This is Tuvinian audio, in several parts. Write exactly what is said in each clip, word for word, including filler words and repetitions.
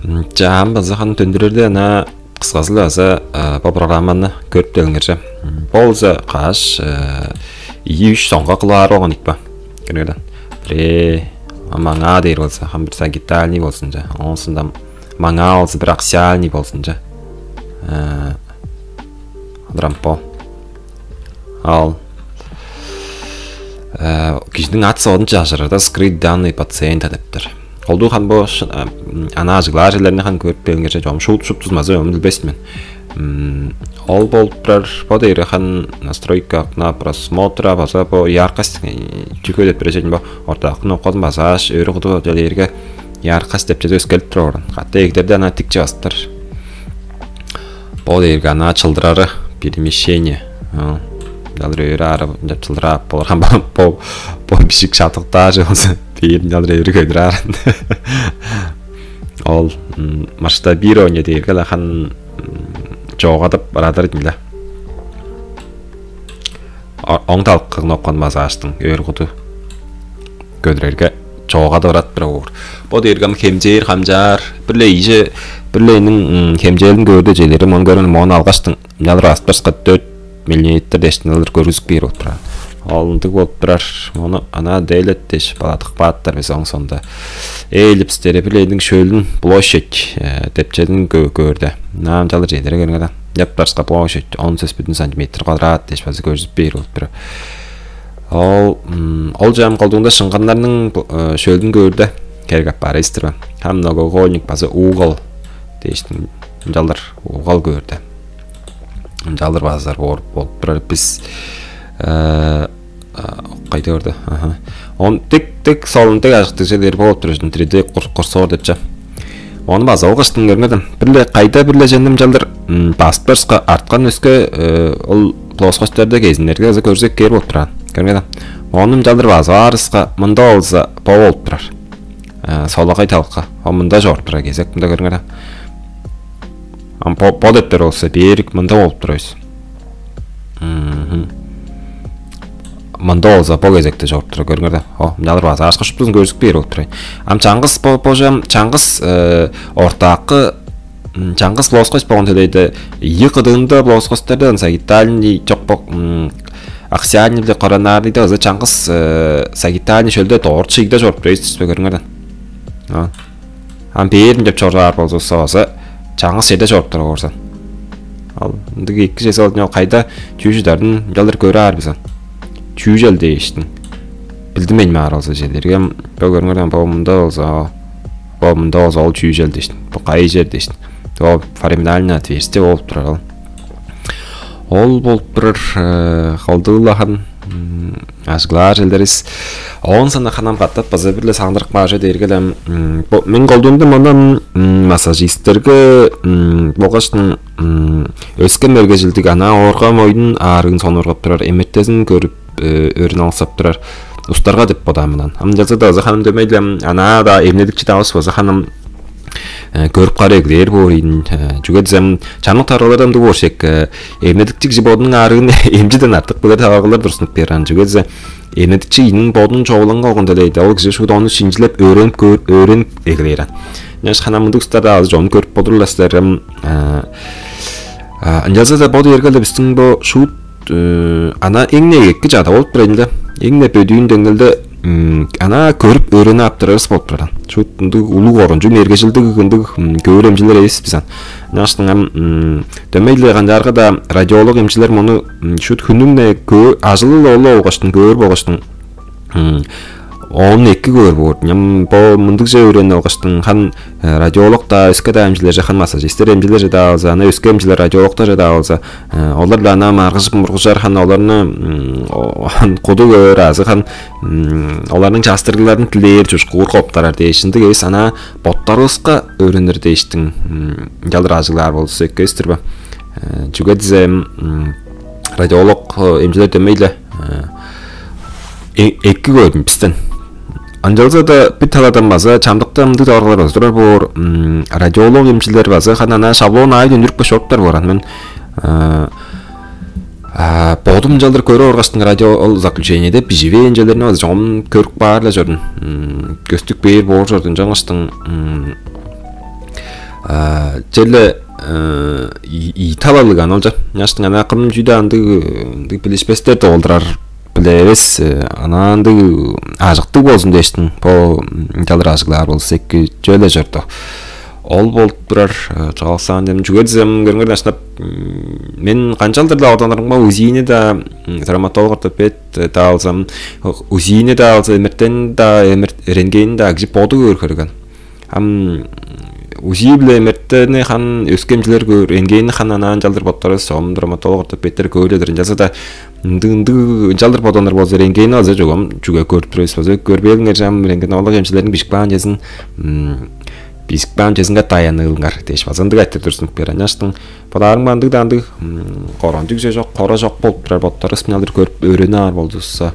Чаам база хан төндүрерде ана кысказы база бо программаны көрүп делиңерже. Болза каш ийи үч соңга кылаар болган икпа. Көргөдөн. Бре маңаа дээр болза, хам бир сагитальный болсунча. Оонсунда маңаа болза бир аксиальный болсунча. Адырампо. Ал кижиниң ат соодун чажырарда скрыть данные пациента дептер. Колдуу хан бо ана ажыглаар черлерни хан көрүп келгенче чогум шуут шуптузмазы өмүн билбес мен. Ол болуп турар бо дейре хан настройка окна просмотра база бо яркость чүгө деп бережен бо ортаакын оккозун базааш өрү куду делээрге яркость деп чеде өскелип турар. Катта эгдерде ана тикче бастыр. Бо дээрге ана чылдырары перемещение. Жалыр өрү ары чылдырап болурган бо бо бишик шатыктаажы болза бээрин жалыр өрү көдүраар. Ол масштабирование дээрге лахан чоогадып барадыр димиле. Оң талкыгын оккан базааштың өр куду көдүрерге чоогадып барат бир оор. Бо дээргем хемчээр хамчаар бир-ле ийже бир-ле эниң хемчээлин көөрдө желерим он көрүн моон алгаштың мынчалыр астырска дөрт миллиметр дээштин алыр көргүзүп бээр болуп турар. Ол ындыг болуп турар. Мону ана делет дээш баладык бааттар биз оң сонда. Эллипстери бир-ле эниң шөлүн площадь депчедин көөрдө. Наам жалыр желери көрүңер да. Деп барска площадь он сес бүтүн сантиметр квадрат дээш база көргүзүп бээр болуп турар. Ол ол жам колдугунда шыңганнарның шөлүн көөрдө керек аппаар эстирбе. Хам многоугольник база угол дээштин жалыр угол көөрдө. Жалыр базар болуп турар бис кайда көрдө. Он тик тик солун тик ажыктыг жерлер болуп тур три д курсор депче. Ону база ол кыштын көрмедим. Бир-ле кайда бир-ле жендим жалдыр басып барышка арткан өске ол плоскостьтарда кезиннерге база көрзек кээр болуп турган. Көрмедим. Ону жалдыр базып аарыска мында болза бо болуп турар. Солагай талка. О мында чоруп турар кезек мында көрүңер. Ам бо бо дептер болза берик мында болуп турабыз. Мында болза бо кезекте чоруп турар көрүңер да. О, мынчалар база ашка шуптузун көрүзүп бээр болуп турай. Ам чаңгыс бо божам чаңгыс ортаакы чаңгыс плоскость болгон төлейде ийи кыдыында плоскостьтарда сагитальный чок бок аксиальный биле коронарныйда ызы чаңгыс сагитальный шөлде доор чыйда чоруп турайсыз көрүңер да. Ам бээрин деп чоргаар болзувусса база чаңгыс черде чоруп турар оорзан. Ал ындыг эки чеси болдуң ол кайда чүү чыдарын ынчалдыр көрө аар бизан. Чүү чел дээштиң. Билдим мен маар болза чедиргем бо көрүңөрдөн бо мында болза бо мында болза ол чүү чел дээштиң. Бо кайы чер дээштиң. Ол фораминальное отверстие болуп турар ол. Ол болуп турар холдуулахан ажыглаар челдерис. Оон сана ханам катап база бир-ле сагындырып каажы дээрге мен колдуунда мындан массажисттерге болгаш өскен мергежилдиг ана оорга моюн аарыын сонургап турар, эмертезин көрүп өөрүн алсап турар устарга деп бодаан мындан. Ам жаза да ыза ханым дөмейле ана да эмнедикчи давыс база ханым көрүп кара эглээр боор ийин. Чүге дизем чамдык таргалардан дуу боор шек эмнедикчи кижи бодунуң аарыын эмчиден артык билер таваргалар турсунуп берген. Чүге дизе эмнедикчи ийниң бодунуң чогулан калган делейди. Ол кижи шуут ону шинжилеп өөренип өөренип эглээр. Ынчаш хана мындыг устарда азы чонун көрүп бодурлар силер. Ынчалза да бо дээрге эле биздин бо шуут ана эң негекки чада болуп турайын да. Эң не бөдүүн деңнелде ана көрүп өөренип аптырарыс болуп турар. Шуут ындыг улуг орунчу мергежилдиг ындыг көөр эмчилер эвес биз ан. Ынчаштың ам дөмей-ле канчаарга да радиолог эмчилер муну шуут хүннүң-не көөр ажылы-ла олу болгоштун көөр болгоштун оон эки көөр боор. Ням бо мындыгже өөренип алгаштың хан радиолог да өске да эмчилер жахан массажистер эмчилер жада алза, ана өске эмчилер радиологтар жада алза, олар биле ана маргыжып мургужар хан оларны куду көөр азы хан оларның частырыгларын тилээр чушкуур коптарар дээш ындыг эвес ана боттарывыска өөренир дээштиң жалыр ажыглаар болзу эккестир бе? Чүге дизе радиолог эмчилер дөмей-ле эки көрдүм бистен. Ынчалза-даа бир таладан база чамдыкта ындыг таварылар база турар боор. Радиолог эмчилер база ханана шаблон аайын үндүрүп башоруптар боор. Мен бодум ынчалдыр көрүп оргаштың радио ол заключениеде биживээн черлерин база чогум көрүп баар эле чордум. Көстүк бээр боор чордум. Жаңыштың Черле италалыг аналча няштың ана кым чүйде андыг ындыг билишпестер долдурар биле эвес, ана андыг ажыктыг болзун дээштин бо ынчалдыр ажыглаар болза эки чүве-ле чорду. Ол болуп турар. Чооксаан дем чүге дизем көрүңер дашнап, мен канчалдыр-ла оданырымга узини-даа, травматолог ортопед-даа алзам, узини-даа алза эмертен-даа эмерт рентгени-даа кижи боду көөр көрген. Ам УЗИ-биле эмертени хан өскемчилер көөр, рентгенни хан анаан чалдыр боттарывыс, ом травматолог ортопедтер көөледир. Ынчалза-даа ындыг ындыг ынчалдыр бодонор болза, рентгенни база чогум чүге көрүп турувус база көрбээлиңер чам рентгенология эмчилерин бижип каан чезин бижип каан чезинге даяныңар дээш база ындыг айтып турсун бээр аняштың бодаарымга ындыг-даа ындыг корончуг же жок, кора жок болуп турар, боттарывыс мыналдыр көрүп өөрүнүп аар болдувусса,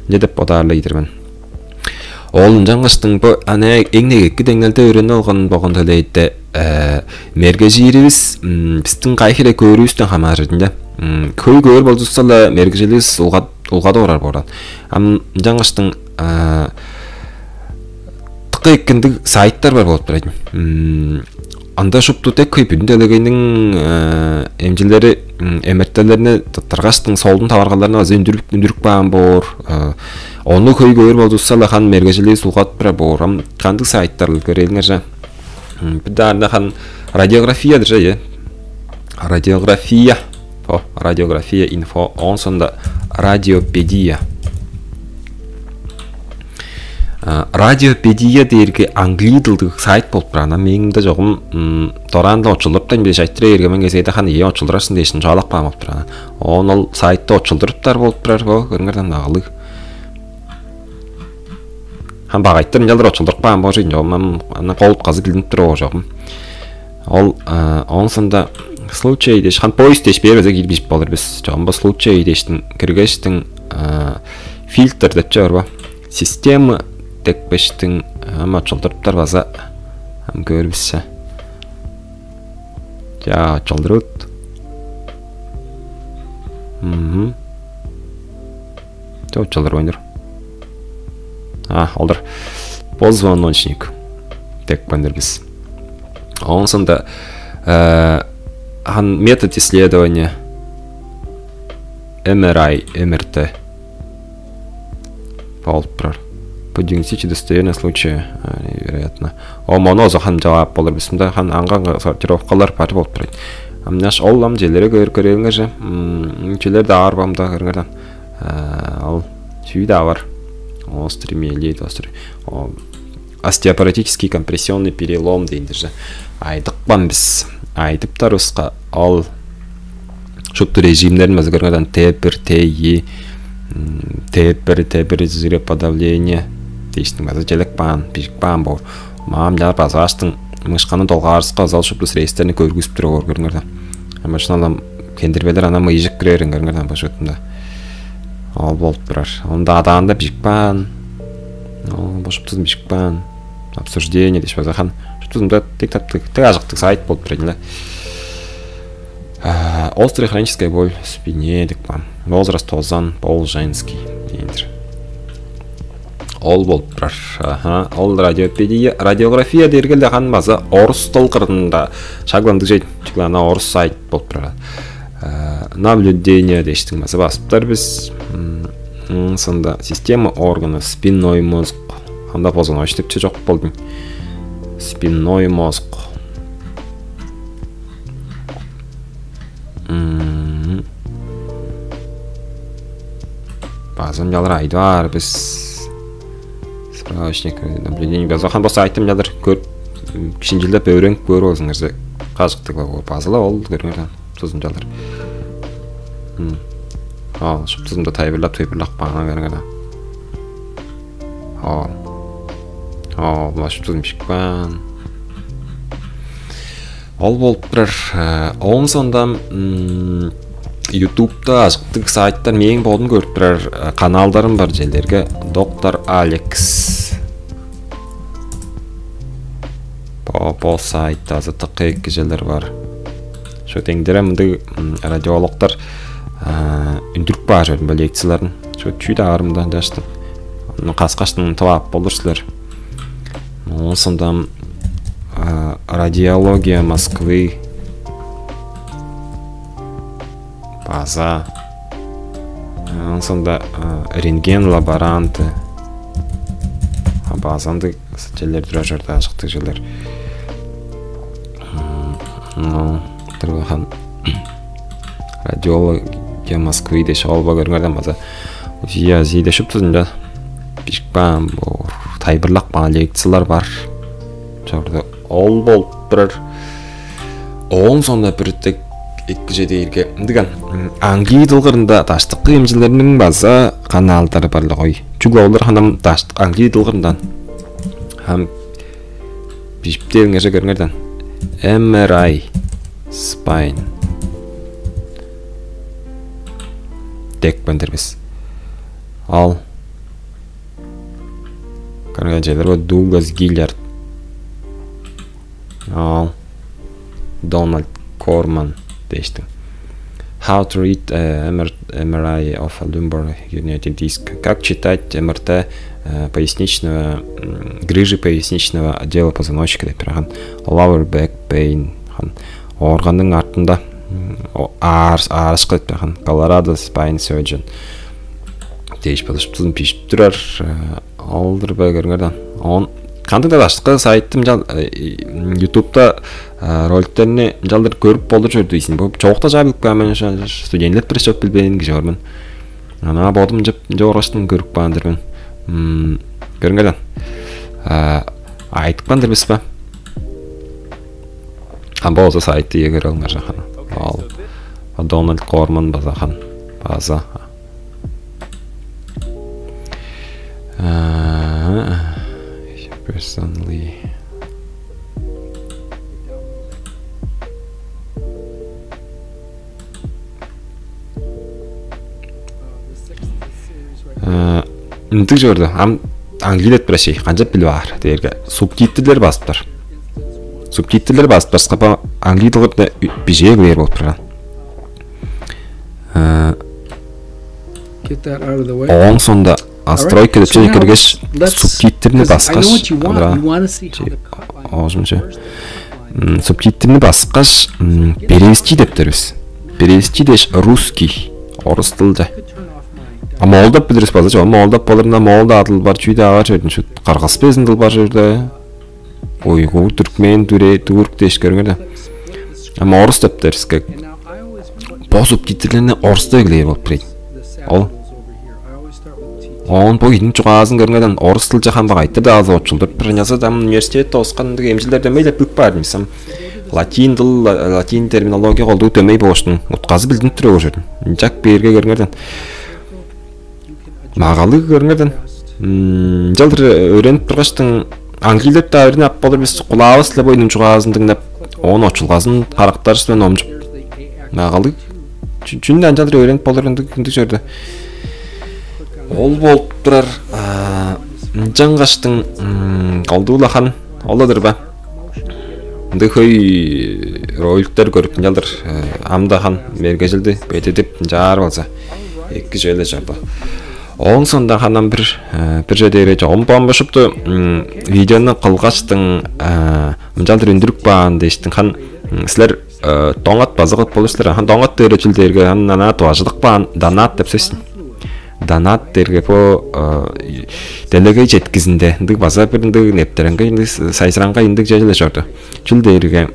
не деп бодаар-ла ийдир мен. Ол ынчангаштың бо аны эң негекки деңнелде өөрүнүп алган болган төлээдте мергежииривис бистиң кайы хире көөрүвүстен хамааржыр да. Хөй көөр болзувусса-ла мергежиливис улгады орар бооран. Ам ынчангаштың тыкка эккиндиг сайттар бар болуп турар. Анда шупту дег хөй бүдүн делегейниң эмчилери эмертелерни тыргаштың солдун таваргаларына база үндүрүп үндүрүп каан боор. Ону хөй көөр болзувусса-ла хан мергежилиис улгадып турар боор. Ам кандыг сайттар көрээлиңер же? Бир даарында хан радиографиядыр же, э? Радиография. О, радиография инфо, оон соонда радиопедия. Радиопедия дээрге англии дылдыг сайт болуп турар. Ана мээң мында чогум дораан-ла очулдуруптайн биле айтыра берген мен кезээде хан ие очулдурарсын дээшин чугаалап каан болуп турар. Оон ол сайтты очулдуруптар болуп турар бо көрүңерден агалыг. Хан багайтыр ынчалдыр очулдуруп каан божуйн чогум ана кол утказы билинип тур оожогум. Ол оон соонда случай дээш хан поиск дээш бээр база киир бижип болур бис. Чогум бо случай дээштин киргештиң фильтр деп чор бо. Система декпештиң ама очулдуруптар база ам көөр биссе. Ча очулдурут. Мм. Ча очулдур ойнур. А, олдур. Позвоночник деп кандыр бис. Оон соонда хан метод исследования МРИ, МРТ болуп турар. По диагностике достоверного случая, вероятно. О мону озо хан жаваап болур бисимде хан аңга сортировкалар бар болуп турат. Амнаш ол ам желере көөр көрөөлүңер же. Чүлер да аар бамда көрүңер. Ол чүү да бар. Острый миелит, острый. Остеопоротический компрессионный перелом дейндир же. Айдыкпан бис. Айдыптар уска ол шупту режимнерин база көрүңер. Т бир, Т и, Т бир, Т бир жироподавление дээштиң база желек баан, бижик баан боор. Маам жаар базааштың мышканы долгаарыска ызал шупту средствтерни көргүзүп туруп оор көрүңер. Машиналам кендирбелер ана мыйжык кирерин көрүңер башкытында. Ол болуп турар. Онда адаанда бижик баан. Ол бошуптузун бижик баан. Обсуждение дээш база хан. Шуптузунда тек таптык, тек ажыктык сайт болуп турар эле. Острая хроническая боль в спине деп каан. Возраст тозан, пол женский дейндир. Ол болуп турар. Аха, ол радиопедия, радиография дээрге эле хан база орус дыл кырында шагландыг чей. Чүгле ана орус сайт болуп турар. Наблюдение дээштиң база басыптар бис. Сонда система органов, спинной мозг. Анда позвоночник деп чок болдуң. Спинной мозг. Базам жалыр айдып аар бис. Справочник наблюдений база хан баса айтым жалыр көрүп шинжилдеп өөренип көрүп алзыңарза кажыктыг базыла ол көрүңөр тузун жалыр. Ал шуптузумда тайбырлап тыйбырлак баана көрүңөр. Оо, мына шуптузун бишип каан. Ол болуп турар. Оон сондам ютубта ажыктыг сайттар мээң бодум көрүп турар каналдарым бар желерге доктор Алекс. Бо бо сайтта азы тыкка эки желер бар. Шо теңдере мындыг радиологтар үндүрүп баар бо лекцияларын. Шо чүү-даа аарымдан жаштым. Каскаштын тып ап болур силер. Оон сондам Радиология Москвы база, ооң соонда рентген лаборанты база ындыг черлер турар чорду, ажыктыг черлер. Турган радиология Москвы дээш, ол бо көрүңерден база УЗИ, АЗИ дээш шуптузунда бижип каан, бо тайылбырлап каан лекциялар бар чорду. Ол болуп турар. Ооң соонда бир дег эки чүве дээрге ындыган, англий дыл кырында даштыкы эмчилерниң база каналдары бар-ла кой. Чүгле олар ханам даштык англий дыл кырындан. Хам бижип дээриңерже көрүңерден. M R I spine деп каан-дыр бис. Ал көрген черлер бо Дуглас Гиллиард, ал Дональд Корман дээштиң. How to read uh, MR, MRI of a lumbar herniated disc. Как читать МРТ э, поясничного, м, грыжи поясничного отдела позвоночника деп турган. Lower back pain, хан, оорганның артында м, о- аар, аарышкы деп турган. Colorado spine surgeon дээш болушуптузун бижип турар. Э, Ол-дур бе, көрүңерден. Он кандыг-даа башкы сайтты мынчал э, и- м, ютубта э, роликтерни мынчалдыр көрүп болур чорду ийсин. Бу чоокта чаа билип каан мен, ошо студентлер бир чоп билбээн кижи бар мен. Ана бодум ынчап ынча оргаштан көрүп каан-дыр мен. М, Көрүңерден. А, Айтып каан-дыр бис бе? Ам болза сайтты ие көрүңер жахан. Ал Дональд Корман база хан база. А, Personally. Э, Ындыг чорду. Ам английдет бир ашый. Канчап билип аар дээрге субтитрлер басыптар. Субтитрлер басып баскапа англий дылгырда бижээ бээр болуп турган. Э, Get that out of the way. Ооң соонда настройка деп чеже киргеш, субтитрни баскаш, андыра оожумча субтитрни баскаш, перевести деп дербиз. Перевести дээш русский, орус дылча. А моолдап билирис база чок. Моолдап болурунда моол-даа дыл бар, чүү-даа бар чордун шут. Кыргыз безин дыл бар чорда. Уйгур, түркмен, дүре, түрк дээш көрүңер да. Ама орус деп дериске. Бо субтитрлерни орустап эглээр болуп турайын. Ол оон бо ийиниң чугаазын көрүңерден орус дылча хамбак айтыр-даа азы очулдуруп бир ынчалза-даа университетте оскан ындыг эмчилер дөмей деп бүк баар димсем. Латин дыл, латин терминология колдуу дөмей бооштун утказы билдинип туруп ужурдун. Ынчак бээрге көрүңерден. Магалыг көрүңерден. Ынчалдыр өөренип тургаштың англилеп-даа өөрүнүп ап болур бис, кулаавыс-ла бойнуң чугаазын дыңнап, оон очулгазын карактарыс мен омчуп. Магалыг чүнү ынчалдыр өөренип болур ындыг ындыг чорду. Ол болуп турар. Ынчангаштың колдуу-ла хан ол-ла-дыр ба? Ындыг хөй роликтер көрүп ынчалдыр ам-да хан мергежилди бедидип ынчаар болза эки чүве-ле чорду. Ооң соонда ханам бир бир чүве дээрге чогум бомбушупту видеону кылгаштың мынчалдыр үндүрүп каан дээштиң хан силер доңат база кылып болур силер. Хан доңат дээрге чүл дээрге хан ана дубажыдык баан донат деп сөс. Донат дээрге бо делегей четкизинде ындыг база бир ындыг нептереңгей ындыг сайзыраңгай ындыг чүве-ле чорду. Чүл дээрге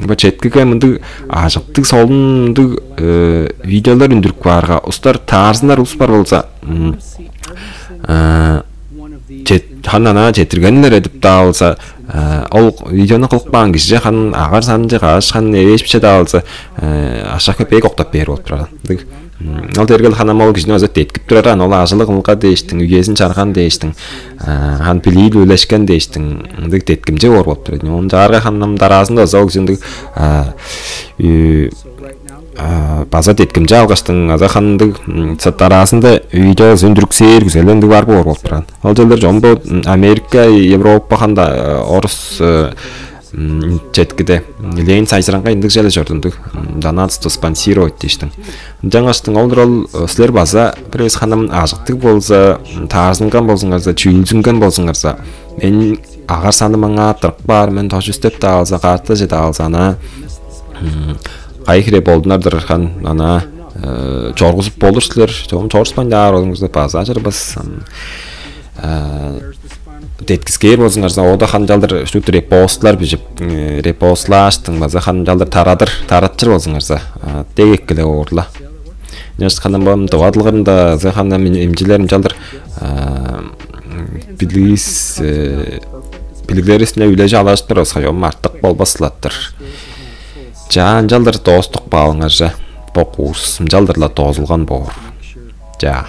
бо четкиге мындыг ажыктыг солун ындыг видеолар үндүрүп каарга устар таарзынар улус бар болза чет хан ана четиргенилер эдип-даа болза ол видеону кылып каан кижиже хан агар санынче каш хан эвээшпиче-даа болза ашак бек октап бээр болуп турар. Ындыг Ол дергел ханам ол кижини өзү деткип тураран, ол ажылы кылга дээштиң, үезин чарган дээштиң, хан билиил үлешкен дээштиң, ындыг деткимче боор болуп турар. Оон чаарга ханам дараазында оза ол кижи ындыг база деткимче алгаштың, аза хандыг дараазында үйде өндүрүксээр күзеле ындыг бар боор болуп турар. Ол чылдыр чомбо Америка, Европа ханда орус Четкиде Ленин сайзыраңга ындыг чүве чордундуг. Донатство спонсировать дээштиң. Ынчангаштың олдур ол силер база бирээзи ханам ажыктыг болза, таарзынган болзуңарза, чүүнзүнген болзуңарза, мен агар саным аңаа тырык баар, мен тожу истеп-даа алза, каартажы-даа алза, ана кайы хире болдунар-дыр хан, ана чоргузуп болур силер, чогум чорушпайн-даа аар болуңарза, база ажырбас. Деткискээр болзуңарза, ода ханчалдыр шупту репостлар бижип, репостлааштың база ханчалдыр тарадыр, таратчыр болзуңарза, дег эккеле оорла. Нешт ханам бам дывадылгырында зы ханам имчилерим чалдыр билигис билиглерисине үлежи алаштыр осхайом артык болбас сылаттыр. Чаан чалдыр доостук баалыңарже бок уус ынчалдыр-ла доозулган боор. Чаа.